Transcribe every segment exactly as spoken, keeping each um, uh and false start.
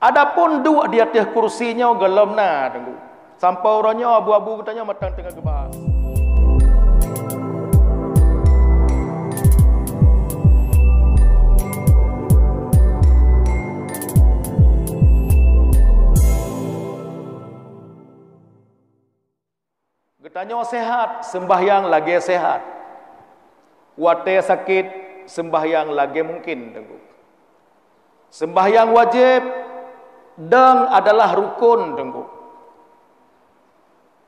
Adapun duek di ateueh kursi nyoe gohlom na, Teungku. Sampoe uroe nyoe abu-abu geutanyoe mantong teungoh geubahas. Geutanyoe sehat, seumbahyang lagée sehat. Watée sakét, seumbahyang lagée mungken, Teungku. Seumbahyang wajéb, deung adalah rukon, Teungku.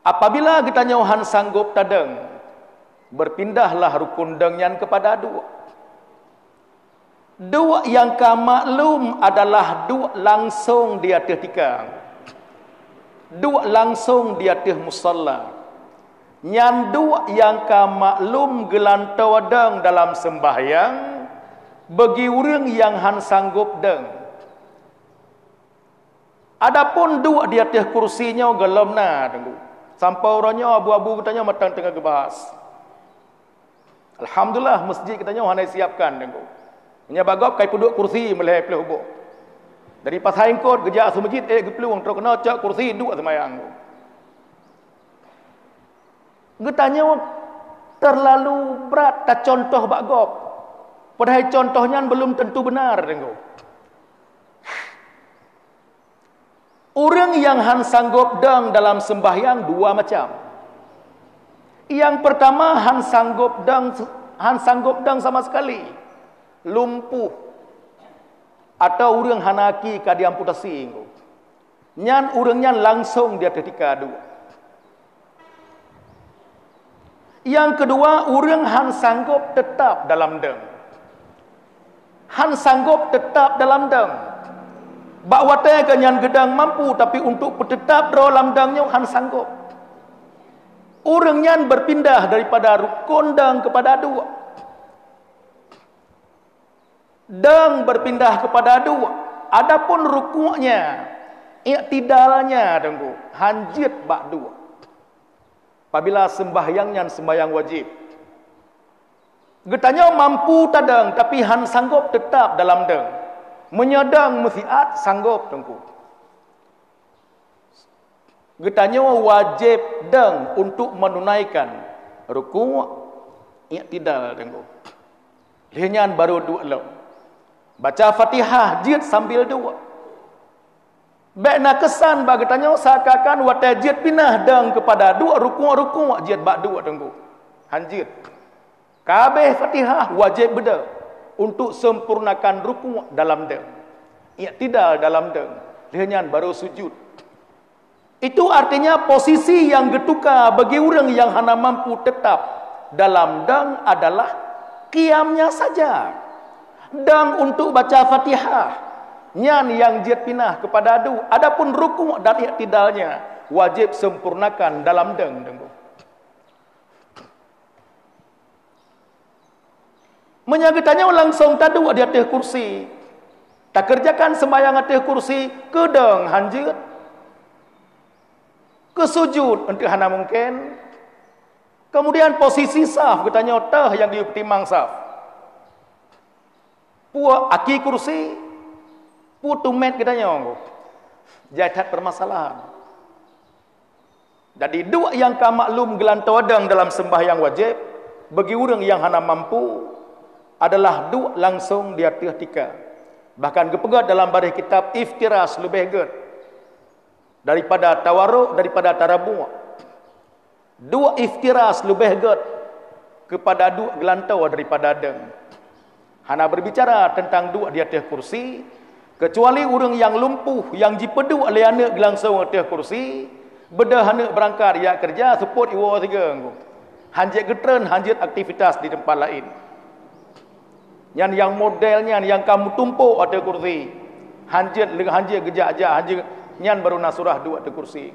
Apabila geutanyoe han sanggob tadeung, beurpindahlah rukon deung nyan keupada duek. Duek nyang ka maklum adalah duek langsong di ateueh tika. Duek langsong di ateueh musalla. Nyan duek nyang ka maklum geulantoe deung dalam seumbahyang, bagi ureuëng nyang han sanggob deung. Adapun duek di ateueh kursi nyoe gohlom na, Teungku. Sampoe uroe nyoe abu-abu geutanyoe mantong teungoh geubahas. Alhamdulillah, masjid geutanyoe hana jisiapkan, Teungku. Meunyoe bak gob ka jipeuduek kursi meulhée ploh boh. Dari Pasai Eungkot geujak Seumeujeut ék geuplueng, trok keunoe cok kursi duek seumayang. Geutanyoe teurlalu brat tacontoh bak gob. Padahai contoh nyan beulom teuntu beunar, Teungku. Ureuëng nyang han sanggob deung dalam seumbahyang dua macam. Nyang peurtama han sanggob deung, han sanggob deung sama sekali, lumpuh, atau ureuëng hana aki ka diamputasi, Teungku. Nyan ureuëng nyan langsong di ateueh tika duek. Nyang keudua, ureuëng han sanggob teutap dalam deung. Han sanggob teutap dalam deung. Bak watée geuh nyan geudeung mampu, tapi untuk peuteutap droe lam deung nyoe han sanggob. Ureuëng nyan beurpindah daripada rukon deung keupada duek. Deung beurpindah keupada duek. Adapun rukuknya, iktidalnya, Teungku, han jeuet bak duek. Apabila seumbahyang nyan seumbahyang wajéb, geutanyoe mampu tadeung, tapi han sanggob teutap dalam deung. Meunyoe deung meusiat, sanggob, Teungku. Geutanyoe wajéb deung untuk meununaikan rukuk, iktidal, Teungku. Lheueh nyan barô duek lom. Baca Fatihah jeuet sambil duek. Bék na keusan bak geutanyoe seakan-akan watée jeuet pinah deung keupada duek, rukuk-rukuk jeuet bak duek, Teungku. Han jeuet. Ka habéh Fatihah wajéb beudeung untuk sempurnakan rukuk dalam deung, iktidal dalam deung, lheueh nyan barô sujud. Itu artinya posisi nyang geutuka bagi ureuëng nyang hana mampu teutap dalam deung adalah qiyamnya saja. Deung untuk baca Fatihah, nyan nyang jeuet pinah keupada duek. Adapun rukuk dan iktidalnya wajéb sempurnakan dalam deung, Teungku. Meunyoe geutanyoe langsong taduek di ateueh kursi, takeureujakan seumbahyang ateueh kursi, keu deung han jeuet, keu sujud eunteuk hana mungken, kemudian posisi saf geutanyoe teuh nyang geupeutimang saf. Peue aki kursi, peue teumèt geutanyoe, jai that peumasalahan. Jadi, duek nyang ka maklum geulantoe deung dalam seumbahyang wajéb, bagi ureuëng nyang hana mampu, adalah duek langsong di ateueh tika. Bahkan geupeugah dalam baréh kitab iftirash leubeh gét daripada tawaruk, daripada tarabuek. Duek iftirash leubeh gét keupada duek geulantoe daripada deung. Hana berbicara teuntang duek di ateueh kursi, keucuali ureuëng nyang lumpuh nyang jipeuduek lé aneuëk geuh langsong ateueh kursi, beudôh aneuëk beurangkat jak keureuja, seupôt iwoe sigoe, han jeuet geutreun, han jeuet aktivitas di teumpat laén. Nyan nyang model nyan nyang ka meutumpôk ateueh kursi, han jeuet, han jeuet geujak-jak, han jeuet, nyan barô na surah duek ateueh kursi.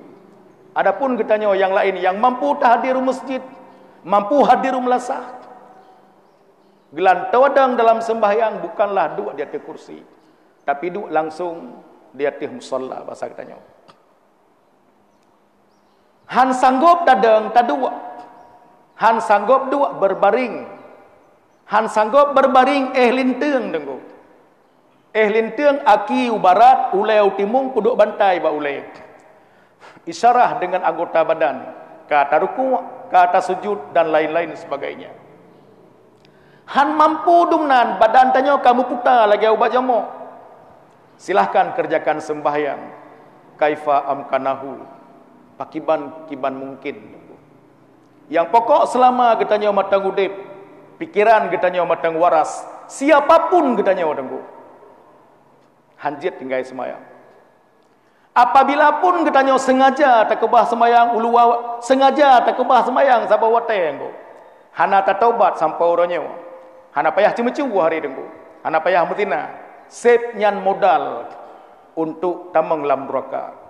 Adapun geutanyoe nyang laén nyang mampu tahadir u meuseujid, mampu hadir u meulasah, geulantoe deung dalam seumbahyang bukanlah duek di ateueh kursi, tapi duek langsong di ateueh musalla basa geutanyoe. Han sanggob tadeung taduek, han sanggob duek beurbaring, han sanggob beurbaring éh linteung, Teungku. Eh linteung aki u barat, ulée u timueng peuduek bantai bak ulée. Isyarah deungon anggota badan, ka tarukuk, ka tasujud dan lain-lain sebagainya. Han mampu dumnan badan tanyoe ka meuputa lagée ubat jamok. Silahkan kerjakan sembahyang kaifa amkanahu, pakiban-kiban mungkin. Nyang pokok selama geutanyoe mantong udeb, pikiran geutanyoe mantong waras, siapapun geutanyoe Teungku, hanjeuet tinggai seumayang. Apabila pun geutanyoe sengaja takeubah seumayang uluwa, sengaja takeubah seumayang saboh watée Teungku, hana tataubat sampoe uroe nyoe, hana payah ceumeucue hari Teungku, hana payah meuzina, seb nyan modal untuk tamong lam nuraka.